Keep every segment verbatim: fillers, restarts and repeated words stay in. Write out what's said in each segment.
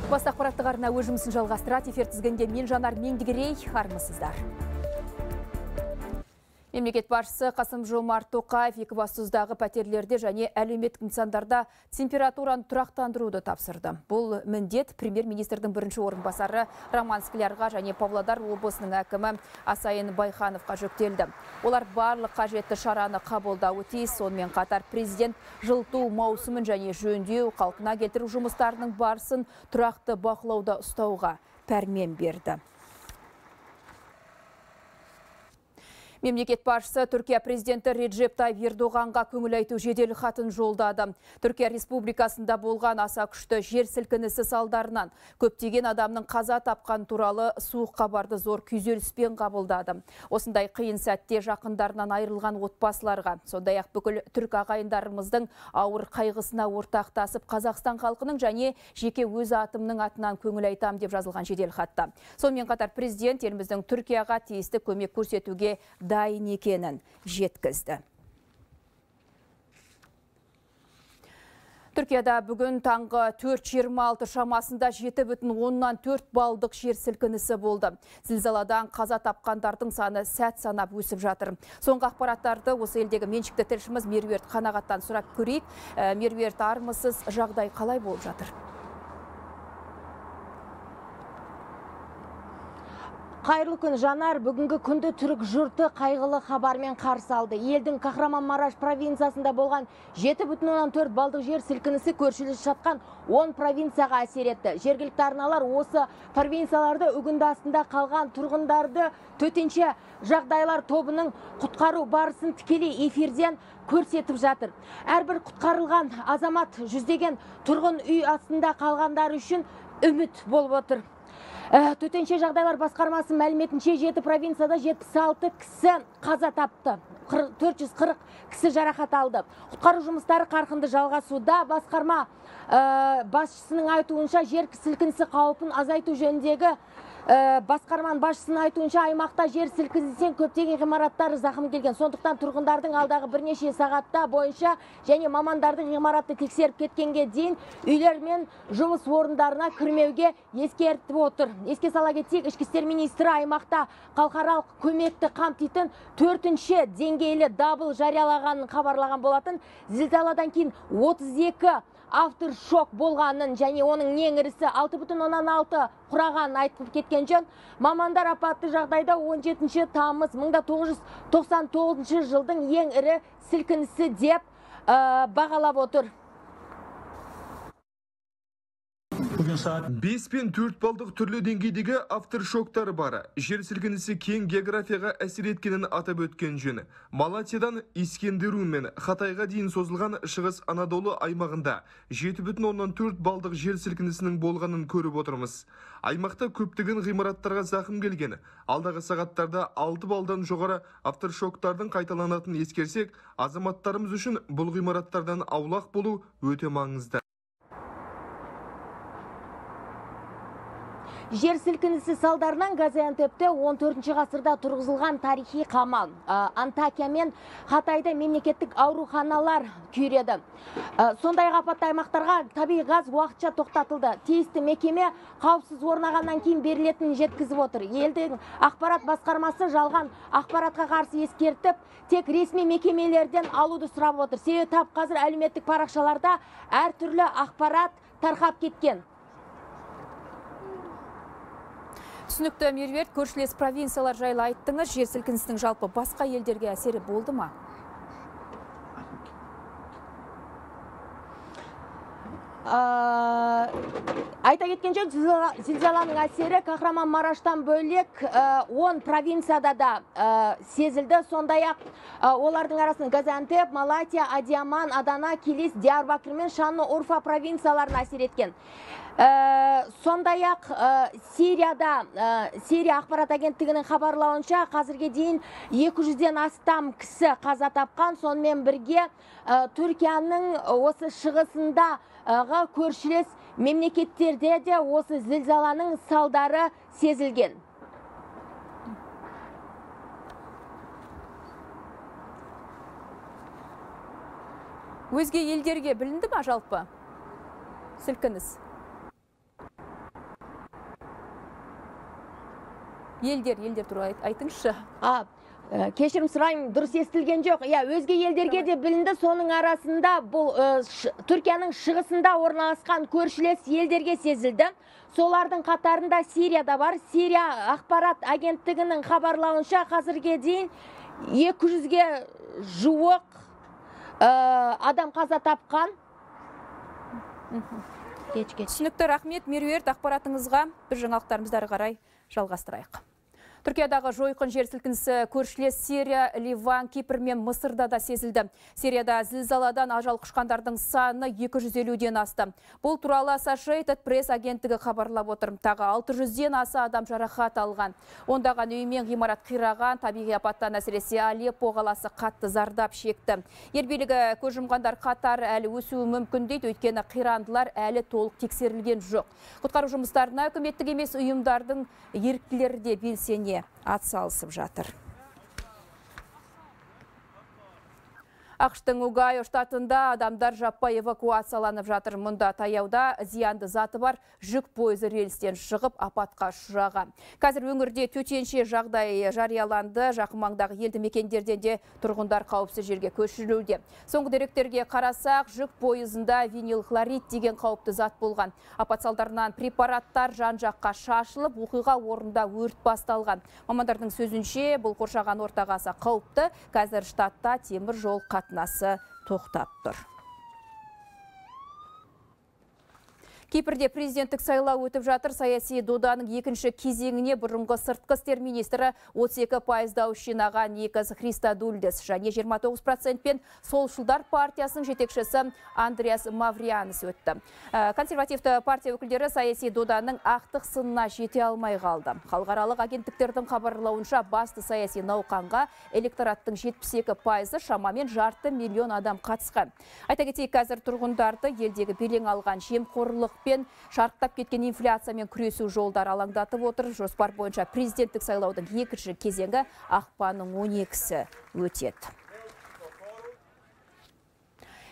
Бас ақпараттық арна өз жұмысын жалғастырады. Эфир тізгінде мен Жанар Меңдігерей, армысыздар. Мемлекет басшысы Қасым-Жомарт Тоқаев екібастұздағы пәтерлерде және әлеуметтік нысандарда температураны тұрақтандыруды тапсырды. Бұл міндет премьер-министрдің бірінші орынбасары Роман Склярға және Павлодар облысының әкімі Асайын Байхановқа жүктелді. Олар барлық қажетті шараны қабылдауы тиіс. Сонымен қатар президент жылыту маусымын және жөндеу, қалпына келтіру жұмыстарының барысын тұрақты бақылауда ұстауға пәрмен берді. Мемлекет басшысы Түркия президенті Реджеп Тайып Ердоғанға көңіл айту жедел хатын жолдады. Түркия республикасында болған аса күшті жер сілкінісі салдарынан көптеген адамның қаза тапқан туралы суық хабарды зор күйзеліспен қабылдады. Осындай қиын сәтте жақындарынан айырылған отбасыларға, сондай-ақ бүкіл түрк ағайындарымыздың ауыр қайғысына ортақтасып, Қазақстан халқының және жеке өз атымның атынан көңіл айтам деп жазылған жедел хатта. Сонымен қатар президент еліміздің Түркияға тиісті көмек көрсетуге дайын екенін жеткізді. Түркияда бүгін таңғы төрт жиырма алты шамасында жеті бүтін оннан төрт балдық жер сілкінісі болды. Зілзаладан қаза тапқандардың саны сәт санап өсіп жатыр. Соңғы ақпараттарды осы елдегі меншікті тілшіміз Меруерт Қанағаттан сұрап көрейік. Меруерт, армысыз, жағдай қалай болып жатыр? Қайырлы күн, Жанар. Бүгінгі күнді түрік жұрты қайғылы хабармен қарсы алды. Елдің Kahramanmaraş провинциясында болған жеті бүтін оннан төрт балдық жер сілкінісі көршілес жатқан он провинцияға әсер етті. Жергілікті арналар осы провинцияларды үгінді астында қалған тұрғындарды төтенше жағдайлар тобының құтқару барысын тікелей эфирден көрсетіп жатыр. Әрбір құтқарылған азамат жүздеген тұрғын үй астында қалғандар үшін үміт болып отыр. Төтенше жағдайлар басқармасы мәліметінше жеті провинцияда жетпіс алты кісі қаза тапты. төрт жүз қырық кісі жарақат алды. Құтқару жұмыстары қарқынды жалғасуда. Басқарма басшысының айтуынша жер сілкінісі қаупін азайту жөніндегі басқарман басшысының айтуынша аймақта жер сілкінісінен көптеген ғимараттары зақым келген. Сондықтан тұрғындардың алдағы бірнеше сағатта бойынша және мамандардың ғимаратты тексеріп кеткенге дейін үйлер мен жұмыс орындарына кірмеуге ескертіп отыр. Еске сала кетсек, ішкі істер министрі аймақта халықаралық көмекті қамтитын төртінші деңгейлі дабыл жариялағанын хабарлаған болатын. Зілзаладан кейін отыз екі авторшок болғанын және оның ең ірісі алты бүтін оннан алты құрағанын айтып кеткен жөн. Мамандар апатты жағдайда он жетінші тамыз мың тоғыз жүз тоқсан тоғызыншы жылдың ең ірі сілкінісі деп бағалап отыр. бес пен төрт балдық түрлі деңгейдегі авторшоктары бары. Жер сілкінісі кең географияға әсер еткенін атап өткен жөні. Малатиядан Искендерун мен Хатайға дейін созылған шығыс Анадолу аймағында жеті бүтін оннан төрт балдық жер сілкінісінің болғанын көріп отырмыз. Аймақта көптеген ғимараттарға зақым келген. Алдағы сағаттарда алты балдан жоғары авторшоктардың қайталанатын ескерсек, азаматтарымыз үшін бұл ғимараттардан аулақ болу өте маңызды. Жер сілкінісі салдарынан Газиантепте он төртінші ғасырда тұрғызылған тарихи қамал Антакия мен Хатайда мемлекеттік ауруханалар күйреді. Сондай апатты аймақтарға табиғи газ уақытша тоқтатылды. Тиісті мекеме қауіпсіз орнағаннан кейін берілетінін жеткізіп отыр. Елдің ақпарат басқармасы жалған ақпаратқа қарсы ескертіп, тек ресми мекемелерден алуды сұрап отыр. Себебі тап қазір әлеуметтік парақшаларда әртүрлі ақпарат тарқап кеткен. Түсінікті, Меруерт, көршілес провинциялар жайлы айттыңыз. Жер сілкінісінің жалпы басқа елдерге әсері болды ма? Айта кеткен жөн, зілзаланың әсері Kahramanmaraş'тан бөлек он провинцияда да сезілді. Сондай-ақ олардың арасында Газиантеп, Малатия, Адиаман, Адана, Килис, Диярбакыр мен Шанлы-Урфа провинцияларына әсер еткен. Сондай-ақ Сирияда, Сирия ақпарат агенттігінің хабарлауынша қазірге дейін екі жүзден астам кісі қаза тапқан. Сонымен бірге Түркияның осы шығысында көршілес мемлекеттерде де осы зілзаланың салдары сезілген. Өзге елдерге білінді ма жалпы сілкініс? Елдер, елдер туралы айтыңызшы. А, кешірім сұраймын, дұрыс естілген жоқ. Я, өзге елдерге де білінді, соның арасында бұл Түркияның шығысында орналасқан көршілес елдерге сезілді. Солардың қатарында Сирияда бар. Сирия ақпарат агенттігінің хабарлауынша қазірге дейін екі жүзге жуық адам қаза тапқан. Түсінікті, рахмет Меруерт, ақпаратыңызға. Біз жаңалықтарымызды ары қарай жалғастырайық. Түркиядағы жойқын жер сілкінісі көршілес Сирия, Ливан, Кипр мен Мысырда да сезілді. Сирияда зілзаладан ажал құшқандардың саны екі жүз елуден асты. Бұл туралы Associated Press агенттігі хабарлап отыр. Тағы алты жүзден аса адам жарақат алған. Ондаған үй мен ғимарат қираған, табиғи апаттан әсіресе Алеппо қаласы қатты зардап шекті. Ел билігі көз жұмғандар қатары әлі өсуі мүмкін дейді, өйткені қирандылар әлі толық тексерілген жоқ. Құтқару жұмыстарына үкіметтік емес ұйымдардың еріктілері де белсене атсалысып жатыр. Ақштың Огайо штатында адамдар жаппай эвакуацияланып жатыр. Мұнда таяуда зиянды заты бар жүк пойызы рельстен шығып апатқа ұшыраған. Қазір өңірде төтенше жағдай жарияланды. Жақын маңдағы елді мекендерден де тұрғындар қауіпсіз жерге көшірілуде. Соңғы деректерге қарасақ, жүк пойызында винил хлорид деген қауіпті зат болған. Апат салдарынан препараттар жан-жаққа шашылып, оқиға орнында өрт басталған. Мамандардың сөзінше, бұл қоршаған ортаға аса қауіпті. Қазір штатта темір жол қатынасы тоқтап тұр. Кипрде президенттік сайлау өтіп жатыр. Саяси доданың екінші кезеңіне бұрынғы сыртқы істер министрі отыз екі пайыз дауыс жинаған Никос Христодулидис және жиырма тоғыз процентпен солшылдар партиясының жетекшісі Андреас Мавриянис өтті. Консервативті партия өкілдері саяси доданың ақтық сынына жете алмай қалды. Халықаралық агенттіктердің хабарлауынша басты саяси науқанға электораттың жетпіс екі пайызы шамамен жарты миллион адам қатысқан. Айта кетейік, қазір тұрғындарды елдегі белең алған жемқорлық пен шарықтап кеткен инфляциямен күресу жолдары алаңдатып отыр. Жоспар бойынша президенттік сайлаудың екінші кезеңі ақпанның он екісі өтеді.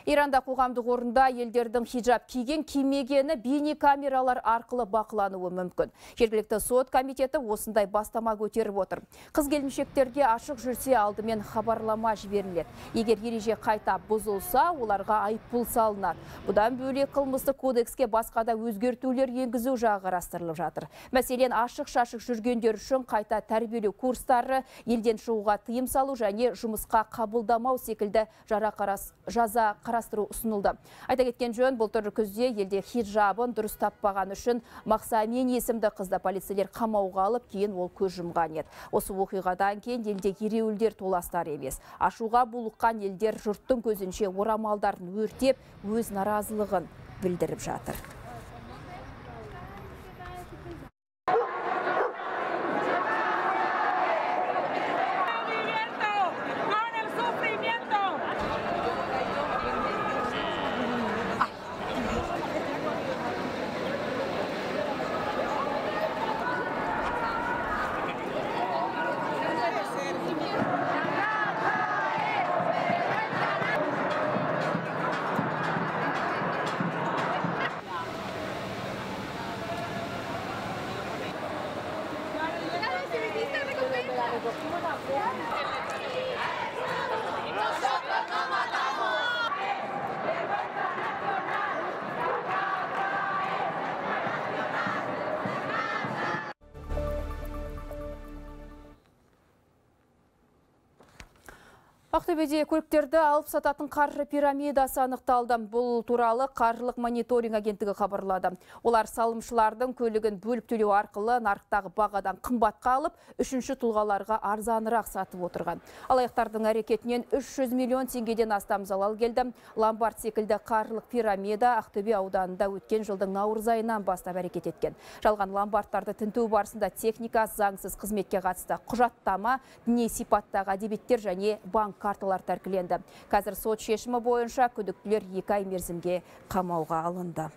Иранда қоғамдық орында елдердің хиджаб киген кимегені бейне камералар арқылы бақылануы мүмкін. Жергілікті сот комитеті осындай бастама көтеріп отыр. Қыз келіншектерге ашық жүрсе алдымен хабарлама жіберіледі. Егер ереже қайта бұзылса, оларға айыппұл салынады. Бұдан бөлек қылмыстық кодекске басқа да өзгертулер енгізу жағы қарастырылып жатыр. Мәселен, ашық-шашық жүргендер үшін қайта тәрбиелеу курстары, елден шығуға тыйым салу және жұмысқа қабылдамау секілді жара қарас жаза қарастыру ұсынылды. Айта кеткен жөн, былтыр күзде елде хиджабын дұрыс таппаған үшін Мақсамин есімді қызды полицейлер қамауға алып, кейін ол көз жұмған еді. Осы оқиғадан кейін елде ереуілдер толастар емес. Ашуға булыққан елдер жұрттың көзінше орамалдарын өртеп, өз наразылығын білдіріп жатыр. Ақтөбеде көліктерді алып сататын қаржы пирамидасы анықталды. Бұл туралы қаржылық мониторинг агенттігі хабарлады. Олар салымшылардың көлігін бөліп төлеу арқылы нарықтағы бағадан қымбатқа алып, үшінші тұлғаларға арзанырақ сатып отырған. Алаяқтардың әрекетінен үш жүз миллион теңгеден астам залал келді. Ломбард секілді қаржылық пирамида Ақтөбе ауданында өткен жылдың наурыз айынан бастап әрекет еткен. Жалған ломбардтарды тінту барысында техника, заңсыз қызметке қатысты құжаттама, діни сипаттағы әдебиеттер және банк карталар тәркіленді. Қазір сот шешімі бойынша күдіктілер екі ай мерзімге қамауға алынды.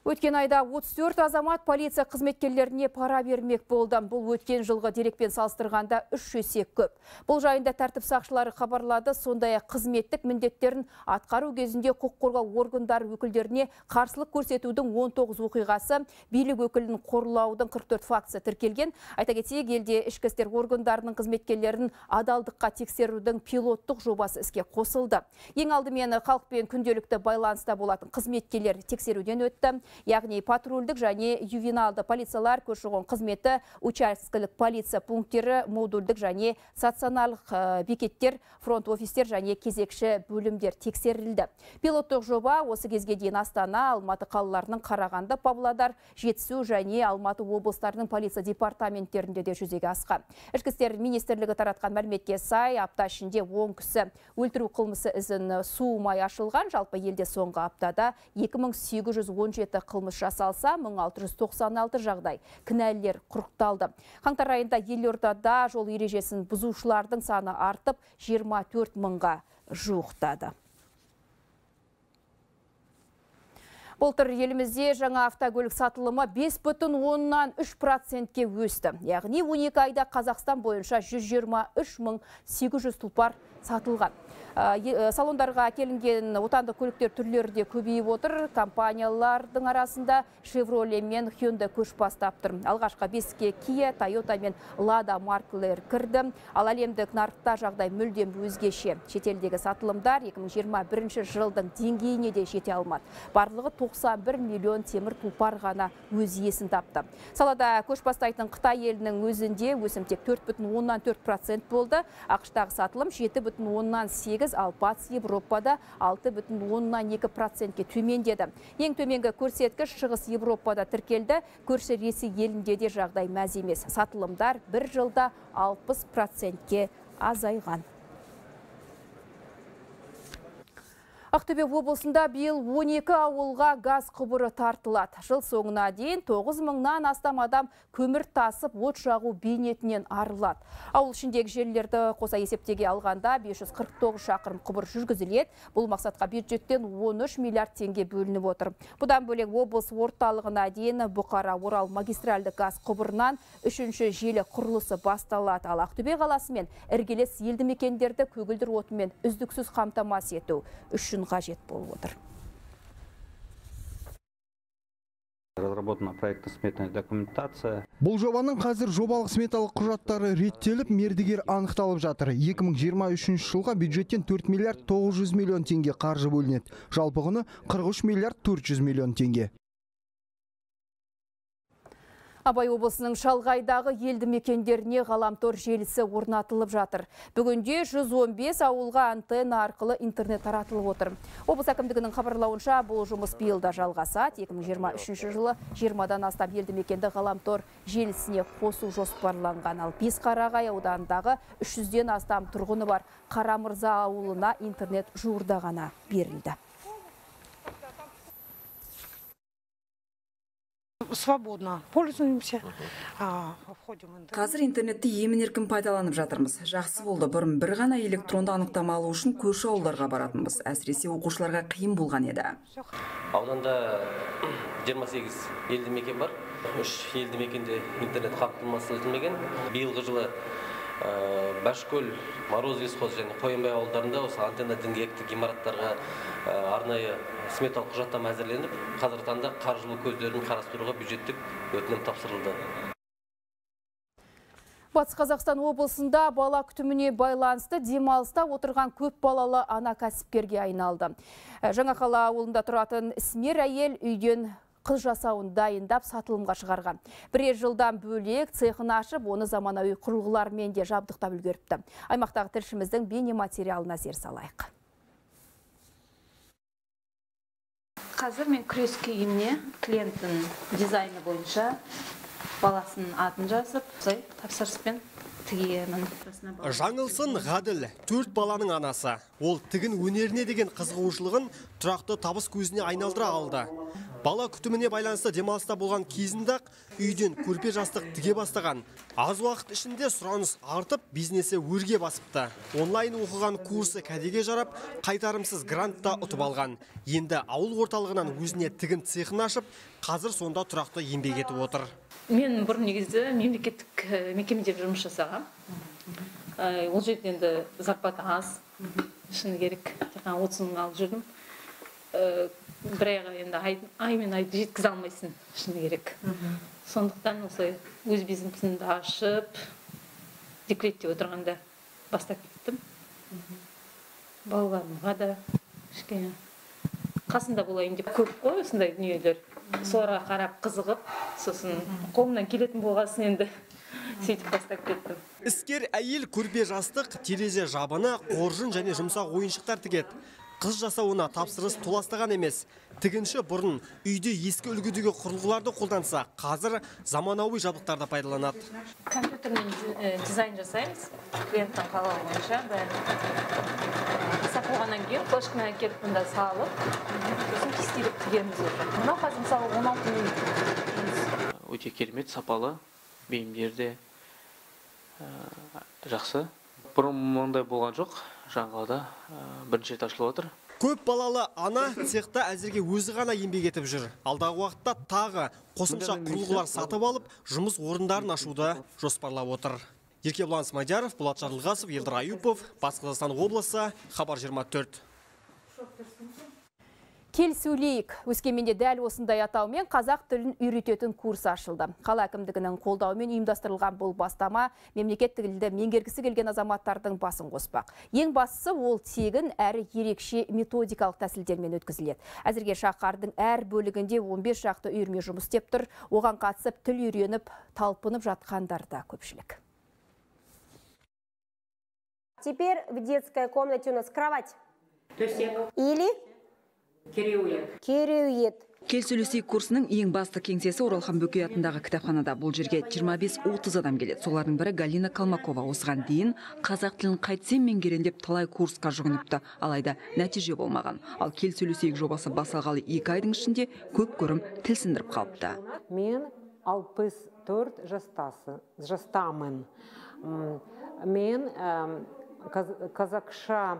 Өткен айда отыз төрт азамат полиция қызметкерлеріне пара бермек болды. Бұл өткен жылғы дерекпен салыстырғанда үш есе көп. Бұл жайында тәртіп сақшылары хабарлады, сондай-ақ қызметтік міндеттерін атқару кезінде құқық қорғау органдары өкілдеріне қарсылық көрсетудің он тоғыз оқиғасы, билік өкілін қорлаудың қырық төрт фактісі тіркелген. Айта кетейік, елде ішкі істер органдарының қызметкерлерін адалдыққа тексерудің пилоттық жобасы іске қосылды. Ең алдымен халықпен күнделікті байланыста болатын қызметкерлер тексеруден өтті. Яғни патрульдік және ювеналды полициялар, көші-қон қызметі, учаскелік полиция пункттері, модульдік және стационарлық бекеттер, фронт-офистер және кезекші бөлімдер тексерілді. Пилоттық жоба осы кезге дейін Астана, Алматы қалаларының Қарағанды, Павлодар, Жетісу және Алматы облыстарының полиция департаменттерінде де жүзеге асқан. Ішкі істер министрлігі таратқан мәліметке сай, апта ішінде он кісі өлтіру қылмысы ізін суымай ашылған. Жалпы елде соңғы аптада екі мың сегіз жүз он жеті қылмыс жасалса, мың алты жүз тоқсан алты жағдай кінәлілер құрықталды. Қаңтар айында елордада жол ережесін бұзушылардың саны артып, жиырма төрт мыңға жуықтады. Былтыр елімізде жаңа автокөлік сатылымы бес бүтін оннан үш процентке өсті. Яғни он екі айда Қазақстан бойынша жүз жиырма үш мың сегіз жүз тұлпар сатылған. Салондарға келінген отандық көліктер түрлері де көбейіп отыр. Компаниялардың арасында Chevrolet мен Hyundai көш бастап тұр. Алғашқы беске Kia, Toyota мен Lada маркалары кірді. Ал әлемдік нарықта жағдай мүлдем өзгеше. Шетелдегі сатылымдар екі мың жиырма бірінші жылдың деңгейіне де жете алмады. Барлығы тоқсан бір миллион темір тұлпар ғана өз иесін тапты. Салада көш бастайтын Қытай елінің өзінде өсім тек төрт бүтін оннан төрт процент болды. ақш-тағы сатылым жеті бүтін оннан сегіз, ал батыс Европада алты бүтін оннан екі процентке төмендеді. Ең төменгі көрсеткіш шығыс Европада тіркелді. Көрші Ресей елінде де жағдай мәз емес. Сатылымдар бір жылда алпыс процентке азайған. Ақтөбе облысында биыл он екі ауылға газ құбыры тартылады. Жыл соңына дейін тоғыз мыңнан астам адам көмір тасып, от жағу бейнетінен арылады. Ауыл ішіндегі желілерді қоса есептеге алғанда бес жүз қырық тоғыз шақырым құбыр жүргізіледі. Бұл мақсатқа бюджеттен он үш миллиард теңге бөлініп отыр. Бұдан бөлек облыс орталығына дейін Бұқара Орал магистральды газ құбырынан үшінші желі құрылысы басталады. Ал Ақтөбе қаласы мен іргелес елді мекендерді көгілдір отынмен үздіксіз қамтамасыз ету үшін қажет болып отыр. Разработана проектно-сметная документация. Бұл жобаның қазір жобалық сметалық құжаттары реттеліп, мердігер анықталып жатыр. екі мың жиырма үшінші жылға бюджеттен төрт миллиард тоғыз жүз миллион теңге қаржы бөлінеді. Жалпы құны қырық үш миллиард төрт жүз миллион теңге. Абай облысының шалғайдағы елді мекендеріне ғаламтор желісі орнатылып жатыр. Бүгінде жүз он бес ауылға антенна арқылы интернет таратылып отыр. Облыс әкімдігінің хабарлауынша бұл жұмыс биылда жалғасады. екі мың жиырма үшінші жылы жиырмадан астам елді мекенді ғаламтор желісіне қосу жоспарланған. Ал Бесқарағай ауданындағы үш жүзден астам тұрғыны бар Қарамырза ауылына интернет жуырда ғана берілді. Свободно пользуемся. Қазір интернетті емін-еркін пайдаланып жатырмыз. Жақсы болды. Бұрын бір ғана электронды анықтама алу үшін көрші ауылдарға баратынбыз. Әсіресе оқушыларға қиын болған еді. Ауданда жиырма сегіз елді мекен бар. үш елді мекенде интернет қамтамасыз етілмеген. Биылғы жылы Башкөл, Мороз лесхоз және Қоянбай ауылдарында осы антенна діңгекті ғимараттарға арнайы сметалық құжаттама әзірленіп, қазіргі таңда қаржылы көздерін қарастыруға бюджеттік өтінім тапсырылды. Батыс Қазақстан облысында бала күтіміне байланысты демалыста отырған көп балалы ана кәсіпкерге айналды. Жаңақала ауылында тұратын ісмер әйел үйден қыз жасауын дайындап сатылымға шығарған. Бірер жылдан бөлек цехын ашып, оны заманауи құрылғылармен де жабдықтап үлгеріпті. Аймақтағы тілшіміздің бейне материалына зер салайық. Қазір мен күрес киіміне клиенттің дизайны бойынша баласының атын жазып, тапсырыспен тігемін. Жаңылсын Ғаділ, төрт баланың анасы. Ол тігін өнеріне деген қызығушылығын тұрақты табыс көзіне айналдыра алды. Бала күтіміне байланысты демалыста болған кезінде үйден көрпе жастық тіге бастаған. Аз уақыт ішінде сұраныс артып, бизнесі өрге басыпты. Онлайн оқыған курсы кәдеге жарап, қайтарымсыз грантта ұтып алған. Енді ауыл орталығынан өзіне тігін цехын ашып, қазір сонда тұрақты еңбек етіп отыр. Мен бұрын негізі мемлекеттік мекемеде жұмыс жасағам. Ол жерде енді зарплата аз, шыны керек, отыз мың алып жүрдім. Бір айға енді ай мен айды жеткізе алмайсың, шыны керек. Сондықтан осылай өз бизнесімді ашып, декретте отырғанда бастап кеттім. Балаларымға да кішкене қасында болайын деп көп қой осындай дүниелер. Соларға қарап қызығып, сосын қолымнан келетін болғасын енді сөйтіп бастап кеттім. Іскер әйел көрпе жастық, терезе жабыны, қоржын және жұмсақ ойыншықтар тігеді. Қыз жасауына тапсырыс толастаған емес. Тігінші бұрын үйде ескі үлгідегі құрылғыларды қолданса, қазір заманауи жабдықтарды пайдаланады. Компьютермен дизайн жасаймыз, клиенттің қалауы бойынша. Жасап болғаннан кейін флешкамен әкеліп мұнда салып, сосын кестелеп тігеміз. Мынау қазір мысалы он алты мың. Өте керемет, сапалы, бейімдерде жақсы. Бұрын мұндай болған жоқ, жаңғалда бірінші рет ашылып отыр. Көп балалы ана цехта әзірге өзі ғана еңбек етіп жүр. Алдағы уақытта тағы қосымша құрылғылар сатып алып, жұмыс орындарын ашуды жоспарлап отыр. Еркебұлан Смадияров, Болат Жарылғасов, Елдар Аюпов, Батыс Қазақстан облысы, Хабар жиырма төрт. Кел сөйлейік. Өскеменде дәл осындай атаумен қазақ тілін үйрететін курс ашылды. Қала әкімдігінің қолдауымен ұйымдастырылған бұл бастама мемлекет тілді меңгергісі келген азаматтардың басын қоспақ. Ең бастысы ол тегін әрі ерекше методикалық тәсілдермен өткізіледі. Әзірге шаһардың әр бөлігінде он бес шақты үйірме жұмыс істеп тұр. Оған қатысып тіл үйреніп, талпынып жатқандар да көпшілік. Теперь в детской комнате у нас кровать. Или кереует. Кел сөйлесейік курсының ең басты кеңсесі Оралхан Бөкей атындағы кітапханада. Бұл жерге жиырма бес отыз адам келеді. Солардың бірі Галина Калмакова. Осыған дейін қазақ тілін қайтсем меңгерем деп талай курсқа жүгініпті. Алайда нәтиже болмаған. Ал кел сөйлесейік жобасы басталғалы екі айдың ішінде көп көрім тіл сындырып қалыпты. Мен алпыс төрт жастамын. Мен қазақша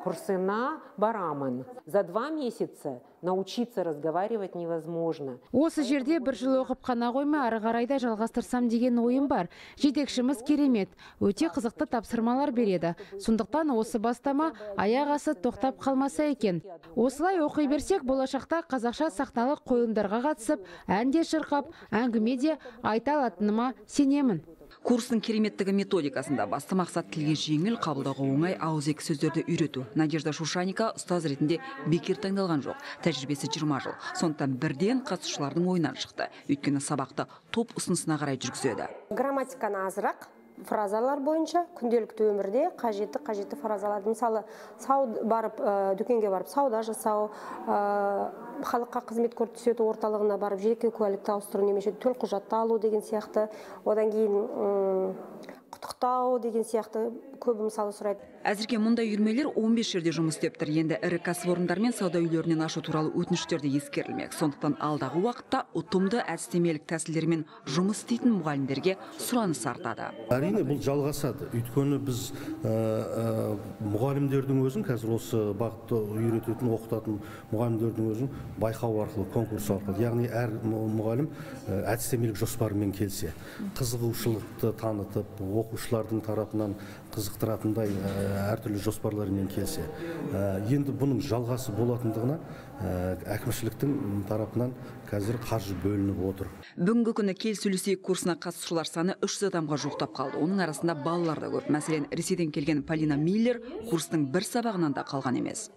курсына барамын. За два месяца научиться разговаривать невозможно. Осы жерде бір жыл оқып қана қойма, ары қарайда жалғастырсам деген ойым бар. Жетекшіміз керемет, өте қызықты тапсырмалар береді. Сондықтан осы бастама аяқ асы тоқтап қалмаса екен. Осылай оқи берсек, болашақта қазақша сахналық қойылымдарға қатысып, ән де шырқап, әңгіме де айта алатыныма сенемін. Курстың кереметтігі методикасында басты мақсат тілге жеңіл, қабылдауға оңай ауызекі сөздерді үйрету. Надежда Шушаника ұстаз ретінде бекер таңдалған жоқ. Тәжірибесі жиырма жыл. Сондықтан бірден қатысушылардың ойынан шықты. Өйткені сабақты топ ұсынысына қарай жүргізеді. Грамматиканы азырақ, фразалар бойынша күнделікті өмірде қажетті қажетті фразаларды, мысалы сауда барып дүкенге барып сауда жасау, халыққа қызмет көрсету орталығына барып жеке куәлікті ауыстыру немесе төлқұжатты алу деген сияқты, одан кейін құттықтау деген сияқты көбі мысалы сұрайды. Әзірге мұндай үйірмелер он бес жерде жұмыс істеп тұр. Енді ірі кәсіпорындар мен сауда үйлерінен ашу туралы өтініштерді ескерілмек. Сондықтан алдағы уақытта ұтымды әдістемелік тәсілдермен жұмыс істейтін мұғалімдерге сұраныс артады. Әрине бұл жалғасады. Өйткені біз мұғалімдердің өзін, қазір осы бағытты үйрететін, оқытатын мұғалімдердің өзін байқау арқылы, конкурс арқылы, яғни әр мұғалім әдістемелік жоспарымен келсе, қызығушылықты танытып, оқушылардың тарапынан қызықтыратындай әртүрлі жоспарларымен келсе, енді бұның жалғасы болатындығына әкімшіліктің тарапынан қазір қаржы бөлініп отыр. Бүгінгі күні кел сөйлесейік курсына қатысушылар саны үш жүз адамға жуықтап қалды. Оның арасында балалар да көп. Мәселен, Ресейден келген Полина Миллер курстың бір сабағынан да қалған емес.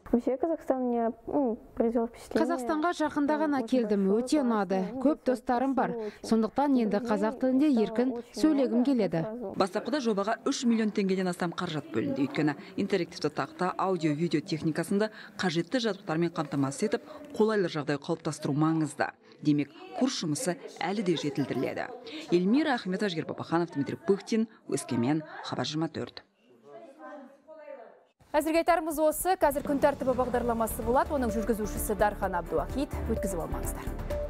Қазақстанға жақында ғана келдім, өте ұнады. Көп достарым бар. Сондықтан енді қазақ тілінде еркін сөйлегім келеді. Бастапқыда жобаға үш миллион теңгеден астам қаражат бөлінді. Өйткені интерактивті тақта, аудио-видео техникасында қажетті жабдықтармен қамтамасыз етіп, қолайлы жағдай қалыптастыру маңызды. Демек, курс жұмысы әлі де жетілдіріледі. Эльмира Ахметова, Жігер Бабаханов, Дмитрий Пыхтин, Өскемен, Хабар жиырма төрт. Әзірге айтарымыз осы. Қазір күн тәртібі бағдарламасы болады. Оның жүргізушісі Дархан Абдуахит. Өткізіп алмаңыздар.